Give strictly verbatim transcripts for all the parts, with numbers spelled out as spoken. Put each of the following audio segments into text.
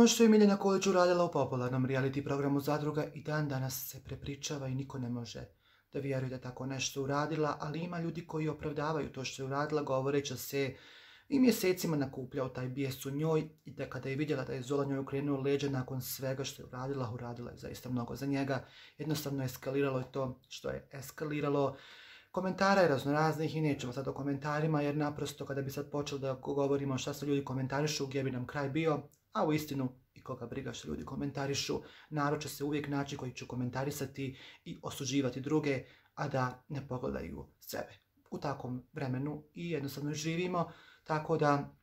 Ono što je Miljana Kulić uradila u popularnom reality programu Zadruga i dan danas se prepričava i niko ne može da vjeruje da tako nešto uradila, ali ima ljudi koji opravdavaju to što je uradila govoreći se i mjesecima nakupljao taj bijes u njoj i da kada je vidjela da je Zola njoj okrenuo leđa nakon svega što je uradila, uradila je zaista mnogo za njega. Jednostavno eskaliralo je to što je eskaliralo. Komentara je raznoraznih i nećemo sad o komentarima jer naprosto kada bi sad počeli da govorimo šta se ljudi komentarišu, gdje bi nam kraj bio, a u istinu i koga briga što ljudi komentarišu, narod će se uvijek naći koji će komentarisati i osuđivati druge, a da ne pogledaju sebe. U takvom vremenu i jednostavno živimo, tako da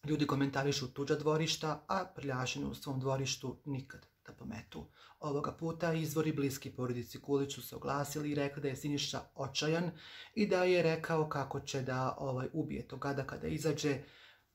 ljudi komentarišu tuđa dvorišta, a prljašine u svom dvorištu nikad da pometu. Ovoga puta izvori bliski porodici Kulić su se oglasili i rekli da je Siniša očajan i da je rekao kako će da ovaj, ubije tog gada kada izađe.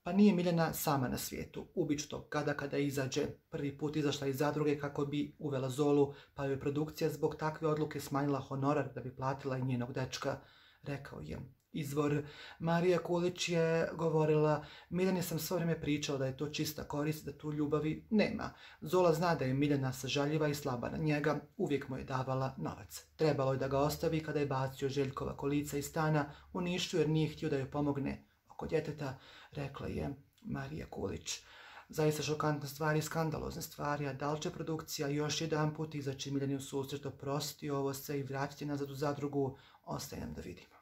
Pa nije Miljana sama na svijetu. Ubit ću tog gada kada izađe. Prvi put izašla iz Zadruge kako bi uvela Zolu, pa joj produkcija zbog takve odluke smanjila honorar da bi platila i njenog dečka, rekao je izvor. Marija Kulić je govorila: Miljani sam svo vrijeme pričala da je to čista korist, da tu ljubavi nema. Zola zna da je Miljana sažaljiva i slaba na njega, uvijek mu je davala novac. Trebalo je da ga ostavi kada je bacio Željkova kolica iz stana u Nišu jer nije htio da joj pomogne oko djeteta, rekla je Marija Kulić. Zaista šokantne stvari, skandalozne stvari, a da li će produkcija još jedan put izaći Miljani u susret, oprostiti ovo se i vratiti nazad u Zadrugu, ostaje nam da vidimo.